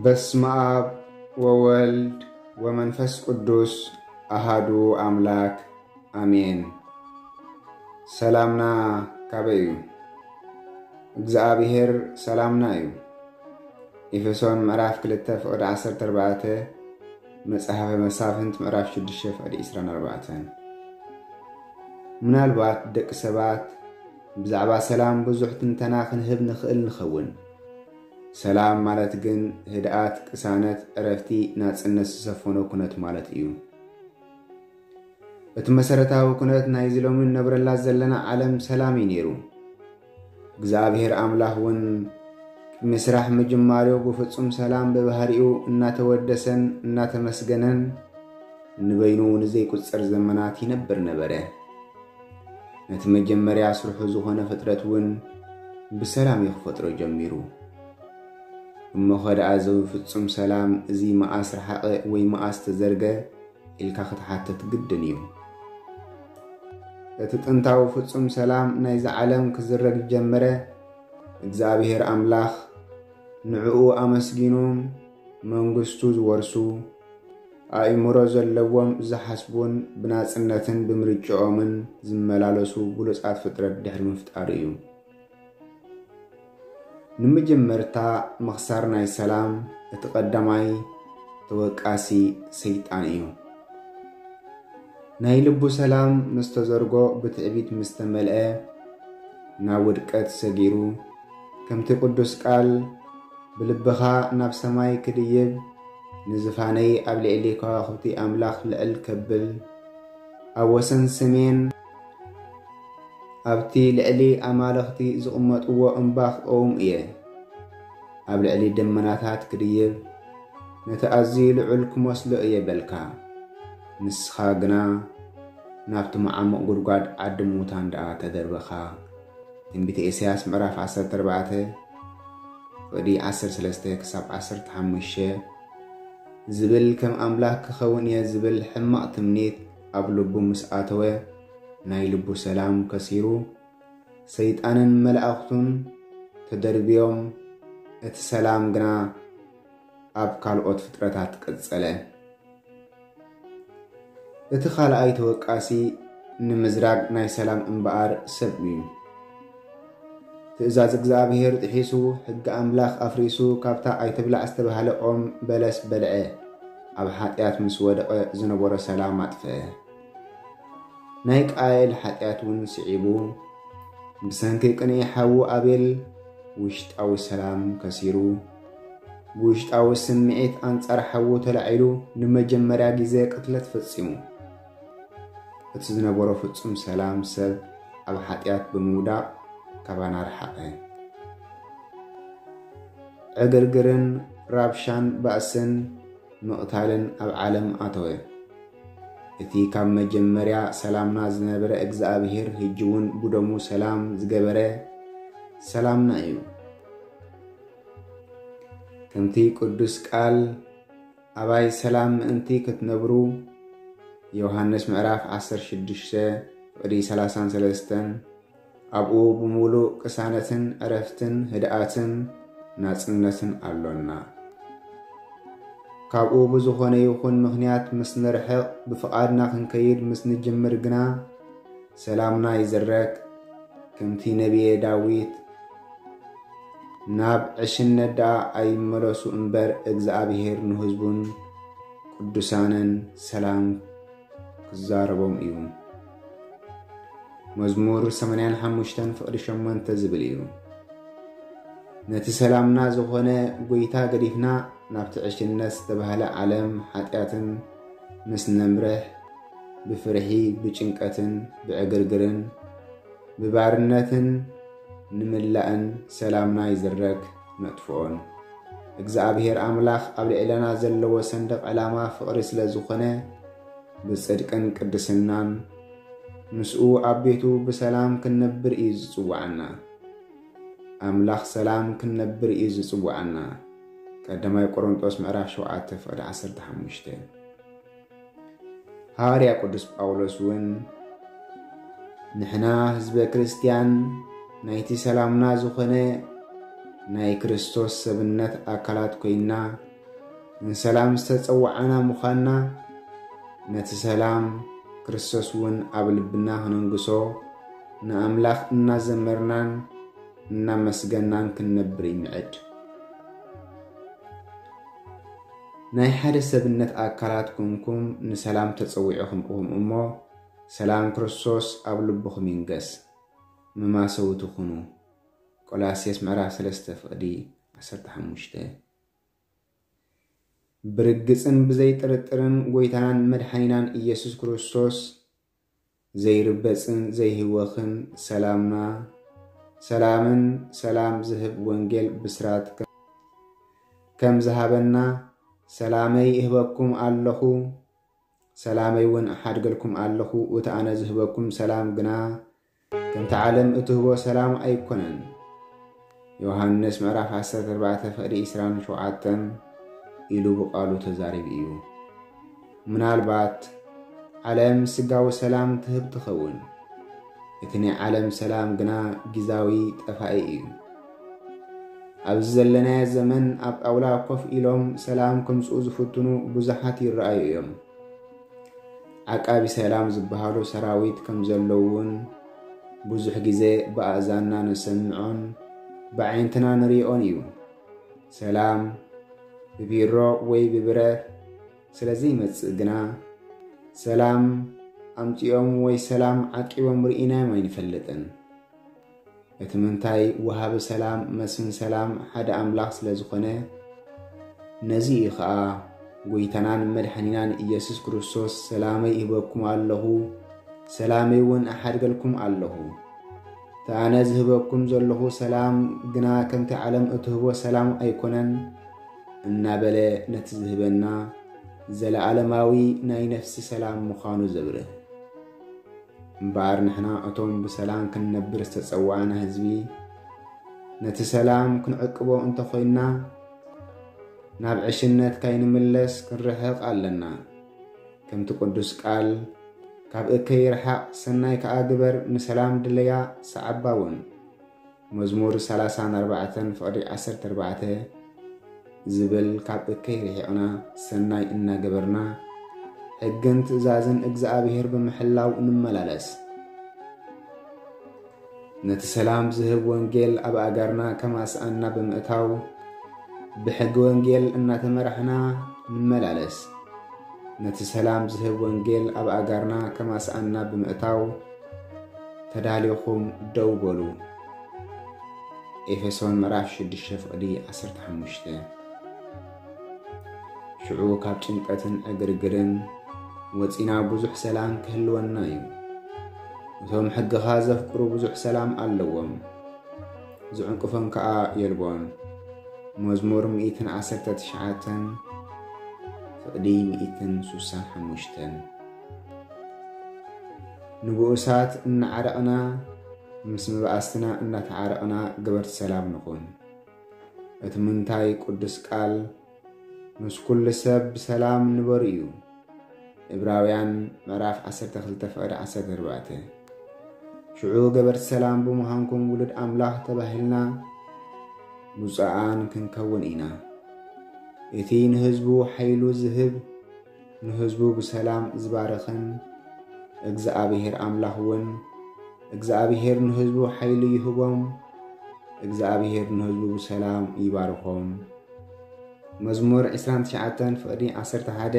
በስመ አብ ወወልድ ወመንፈስ ቅዱስ አሃዱ አምላክ አሜን። ሰላምና ካበይ እዩ? እግዚኣብሔር ሰላምና እዩ። ኤፌሶን ምዕራፍ ክልተ ፍቕዲ ዓሰርተ ኣርባዕተ፣ መጽሓፈ መሳፍንት ምዕራፍ ሽዱሽተ ፍቕዲ ዕስራን ኣርባዕተን። ምናልባት ደቂ ሰባት ብዛዕባ ሰላም ብዙሕ ትንተና ክንህብ ንኽእል ንኸውን። ሰላም ማለት ግን ህድኣት፣ ቅሳነት፣ ዕረፍቲ፣ ናጽነት ዝሰፈኖ ኩነት ማለት እዩ። እቲ መሰረታዊ ኩነት ናይዚ ሎሚ ንነብረላ ዘለና ዓለም ሰላም እዩ ነይሩ። እግዚኣብሔር ኣምላኽ እውን ቅድሚ ስራሕ ምጅማሩ ብፍጹም ሰላም ብባህሪኡ እናተወደሰን እናተመስገነን ንበይኑ ንዘይቁጸር ዘመናት ይነብር ነበረ። ነቲ መጀመርያ ስርሑ ዝኾነ ፍጥረት እውን ብሰላም እዩ ክፈጥሮ ጀሚሩ። እሞኸ ደኣ እዚ ፍጹም ሰላም እዚ መኣስ ረሓቐ ወይ መኣስ ተዘርገ ኢልካ ክትሓትት ግድን እዩ። እቲ ጥንታዊ ፍጹም ሰላም ናይዚ ዓለም ክዝረግ ጀመረ። እግዚኣብሔር ኣምላኽ ንዕኡ ኣመስጊኑ መንግስቱ ዝወርሱ፣ ኣእምሮ ዘለዎም ዝሓስቡን ብናጽነትን ብምርጭኦምን ዝመላለሱ ብሉጻት ፍጥረት ድሕሪ ምፍጣሩ እዩ። ንምጅምርታ ምኽሳር ናይ ሰላም እቲ ቀዳማይ ተወቃሲ ሰይጣን እዩ። ናይ ልቡ ሰላም ምስ ተዘርጎ ብትዕቢት ምስ ተመልአ ናብ ውድቀት ሰጊሩ፣ ከምቲ ቅዱስ ቃል ብልብኻ ናብ ሰማይ ክድይብ ንዝፋነይ ኣብ ልዕሊ ከዋኽብቲ ኣምላኽ ልዕል ከብል ኣብ ወሰን ሰሜን ኣብቲ ልዕሊ ኣማልኽቲ ዝቕመጥዎ እምባ ክቐውም እየ። ኣብ ልዕሊ ደመናታት ክድይብ ነቲ ኣዝዩ ልዑል ክመስሎ እየ በልካ። ንስኻ ግና ናብቲ መዓሙቕ ጉድጓድ ዓዲ ሙታን ደኣ ተደርበኻ። ትንቢተ ኢሳያስ ምዕራፍ ዓሰርተ ኣርባዕተ ፍቕዲ ዓሰርተ ሰለስተ ክሳብ ዓሰርተ ሓሙሽተ ዝብል ከም ኣምላኽ ክኸውን እየ ዝብል ሕማቕ ትምኒት ኣብ ልቡ ምስ ኣተወ ናይ ልቡ ሰላም ከሲሩ ሰይጣንን መላእኽቱን ተደርብዮም እቲ ሰላም ግና ኣብ ካልኦት ፍጥረታት ቀጸለ። እቲ ካልኣይ ተወቃሲ ንምዝራግ ናይ ሰላም እምበኣር ሰብ እዩ። ትእዛዝ እግዚኣብሔር ጥሒሱ ሕጊ ኣምላኽ ኣፍሪሱ ካብታ ኣይትብላዕ ዝተባህለ ኦም በለስ በልዐ። ኣብ ሓጢኣት ምስ ወደቐ ዝነበሮ ሰላም ኣጥፍአ። ናይ ቃየል ሓጢኣት እውን ስዒቡ ብሰንኪ ቅንኢ ሓዉ ኣቤል ውሽጣዊ ሰላም ከሲሩ ብውሽጣዊ ስምዒት ኣንጻር ሓዉ ተላዒሉ ንመጀመርያ ግዜ ቅትለት ፈጺሙ። እቲ ዝነበሮ ፍጹም ሰላም ሰብ ኣብ ሓጢኣት ብምውዳቕ ካባና ረሓቐ። ዕግርግርን ራብሻን ባእስን ምቕታልን ኣብ ዓለም ኣተወ። እቲ ካብ መጀመርያ ሰላምና ዝነበረ እግዚኣብሔር ህጂ እውን ብደሙ ሰላም ዝገበረ ሰላምና እዩ። ከምቲ ቅዱስ ቃል ኣባይ ሰላም ምእንቲ ክትነብሩ ዮሃንስ ምዕራፍ ዓሰርተ ሽዱሽተ ፍቕዲ ሰላሳን ሰለስተን ኣብኡ ብምሉእ ቅሳነትን ዕረፍትን ህድኣትን ናጽነትን ኣሎና። ካብኡ ብዝኾነ ይኹን ምኽንያት ምስ ንርሕቕ ብፍቓድና ክንከይድ ምስ ንጅምር ግና ሰላምና ይዝረግ። ከምቲ ነብየ ዳዊት ናብ ዕሽነት ደኣ ኣይመለሱ እምበር እግዚኣብሔር ንህዝቡን ቅዱሳንን ሰላም ክዛረቦም እዩ። መዝሙር ሰማንያን ሓሙሽተን ፍቕዲ ሸሞንተ ዝብል እዩ። ነቲ ሰላምና ዝኾነ ጎይታ ገዲፍና ናብቲ ዕሽነት ዝተባህለ ዓለም ሓጢኣትን ምስ ነምርሕ ብፍርሒ ብጭንቀትን ብዕግርግርን ብባርነትን ንምላእን ሰላምና ይዝረግ ነጥፍኦን። እግዚኣብሔር ኣምላኽ ኣብ ልዕለና ዘለዎ ሰንደቕ ዕላማ ፍቕሪ ስለ ዝኾነ ብጽድቅን ቅድስናን ምስኡ ኣብ ቤቱ ብሰላም ክንነብር እዩ ዝጽውዓና። ኣምላኽ ሰላም ክንነብር እዩ ዝጽውዓና። ቀዳማይ ቆሮንጦስ ምዕራፍ ሸውዓተ ፍቕዲ ዓሰርተ ሓሙሽተ። ሃዋርያ ቅዱስ ጳውሎስ እውን ንሕና ህዝበ ክርስትያን ናይቲ ሰላምና ዝኾነ ናይ ክርስቶስ ሰብነት ኣካላት ኮይንና ንሰላም ዝተጸዋዕና ምዃንና፣ ነቲ ሰላም ክርስቶስ እውን ኣብ ልብና ክነንግሶ፣ ንኣምላኽ እናዘመርናን እናመስገናን ክንነብር ይምዕድ። ናይ ሓደ ሰብነት ኣካላት ኮንኩም ንሰላም ተጸዊዕኹም ኢኹም እሞ፣ ሰላም ክርስቶስ ኣብ ልብኹም ይንገስ። መማሰውቲ ኩኑ። ቆላስይስ ምዕራፍ ሰለስተ ፍቕዲ ዓሰርተ ሓሙሽተ። ብርግጽን ብዘይጥርጥርን ጎይታናን መድሓኒናን ኢየሱስ ክርስቶስ ዘይርበጽን ዘይህወኽን ሰላምና፣ ሰላምን ሰላም ዝህብ ወንጌል ብስራት ከም ዝሃበና፣ ሰላመይ እህበኩም ኣለኹ፣ ሰላመይ እውን እሓድገልኩም ኣለኹ፣ እቲ ኣነ ዝህበኩም ሰላም ግና ከምቲ ዓለም እትህቦ ሰላም ኣይኮነን። ዮሃንስ ምዕራፍ ዓሰርተ ኣርባዕተ ፍቕዲ ዕስራን ሸውዓተን ኢሉ ብቃሉ ተዛሪቡ እዩ። ምናልባት ዓለም ስጋዊ ሰላም ትህብ ትኸውን፣ እቲ ናይ ዓለም ሰላም ግና ጊዛዊ ጠፋኢ እዩ። ኣብዚ ዘለናዮ ዘመን ኣብ ጣውላ ኮፍ ኢሎም ሰላም ከምጽኡ ዝፍትኑ ብዙሓት ይረኣዩ እዮም። ዓቃቢ ሰላም ዝበሃሉ ሰራዊት ከም ዘለዉ እውን ብዙሕ ግዜ ብኣእዛንና ንሰምዖን ብዓይንትና ንርእዮን እዩ። ሰላም ብቢሮ ወይ ብብረት ስለ ዘይመጽእ ግና፣ ሰላም ኣምጺኦም ወይ ሰላም ዓቂቦም ርኢናዮም ኣይንፈልጥን። እቲ ምንታይ፣ ወሃቢ ሰላም፣ መስፍን ሰላም ሓደ ኣምላኽ ስለ ዝኾነ፣ ነዚ እዩ ኸኣ ጎይታናን መድሓኒናን ኢየሱስ ክርስቶስ፣ "ሰላመይ እህበኩም ኣለኹ፣ ሰላመይ እውን እሓድገልኩም ኣለኹ። እቲ ኣነ ዝህበኩም ዘለኹ ሰላም ግና ከምቲ ዓለም እትህቦ ሰላም ኣይኮነን" እናበለ ነቲ ዝህበና ዘለኣለማዊ ናይ ነፍሲ ሰላም ምዃኑ ዘብርህ። እምበኣር ንሕና እቶም ብሰላም ክንነብር ዝተጸዋዕና ህዝቢ፣ ነቲ ሰላም ክንዕቅቦ እንተኾይንና፣ ናብ ዕሽነት ካይንምለስ ክንርሕቕ ኣለና። ከምቲ ቅዱስ ቃል፣ "ካብ እከይ ርሓቕ፣ ሰናይ ከኣ ግበር፣ ንሰላም ድለያ፣ ሰዓባ እውን።" መዝሙር ሰላሳን ኣርባዕተን ፍቕዲ ዓሰርተ ኣርባዕተ ዝብል፣ ካብ እከይ ርሒቕና ሰናይ እናገበርና ሕግን ትእዛዝን እግዚኣብሔር ብምሕላው እንመላለስ። ነቲ ሰላም ዝህብ ወንጌል ኣብ ኣጋርና ከማስኣና ብምእታው ብሕጊ ወንጌል እናተመራሕና ንመላለስ። ነቲ ሰላም ዝህብ ወንጌል ኣብ ኣጋርና ከማስኣና ብምእታው ተዳሊኹም ደው በሉ። ኤፌሶን ምዕራፍ ሽዱሽተ ፍቕዲ ዓሰርተ ሓሙሽተ። ሽዑ ካብ ጭንቀትን ዕግርግርን ወጺና ብዙሕ ሰላም ክህልወና እዩ። እቶም ሕግኻ ዘፍቅሩ ብዙሕ ሰላም ኣለዎም፣ ዝዕንቅፎም ከኣ የልቦን። መዝሙር ሚእትን ዓሰርተ ትሽዓተን ፍቕዲ ሚእትን ሱሳን ሓሙሽተን። ንብኡሳት እናዓረቕና፣ ምስ መባእስትና እናተዓረቕና ገበርቲ ሰላም ንኹን። እቲ ምንታይ ቅዱስ ቃል፣ "ምስ ኩሉ ሰብ ብሰላም ንበሩ" እዩ። ዕብራውያን ምዕራፍ ዓሰርተ ክልተ ፍቕዲ ዓሰርተ ኣርባዕተ። ሽዑ ገበርቲ ሰላም ብምዃንኩም ውሉድ ኣምላኽ ተባሂልና ብፁዓን ክንከውን ኢና። እቲ ንህዝቡ ሓይሉ ዝህብ፣ ንህዝቡ ብሰላም ዝባርኽን እግዚኣብሔር ኣምላኽ እውን፣ እግዚኣብሔር ንህዝቡ ሓይሉ ይህቦም፣ እግዚኣብሔር ንህዝቡ ብሰላም ይባርኾም። መዝሙር ዕስራን ትሽዓተን ፍቕዲ ዓሰርተ ሓደ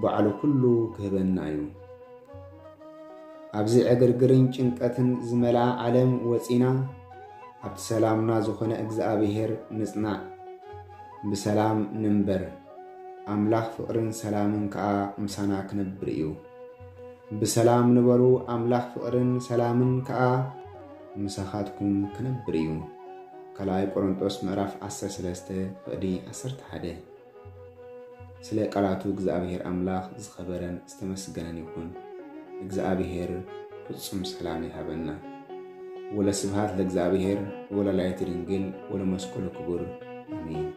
ባዕሉ ኩሉ ክህበና እዩ። ኣብዚ ዕግርግርን ጭንቀትን ዝመልኣ ዓለም ወጺና፣ ኣብቲ ሰላምና ዝኾነ እግዚኣብሔር ንጽናዕ፣ ብሰላም ንንበር። ኣምላኽ ፍቕርን ሰላምን ከኣ ምሳና ክነብር እዩ። ብሰላም ንበሩ፣ ኣምላኽ ፍቕርን ሰላምን ከኣ ምሳኻትኩም ክነብር እዩ። ካልኣይ ቆሮንጦስ ምዕራፍ ዓሰርተ ሰለስተ ፍቕዲ ዓሰርተ ሓደ። ስለ ቃላቱ እግዚኣብሔር ኣምላኽ ዝኸበረን ዝተመስገነን ይኹን። እግዚኣብሔር ፍጹም ሰላም ይሃበና። ወለስብሐት ለእግዚኣብሔር ወለወላዲቱ ድንግል ወለመስቀሉ ክቡር፣ ኣሜን።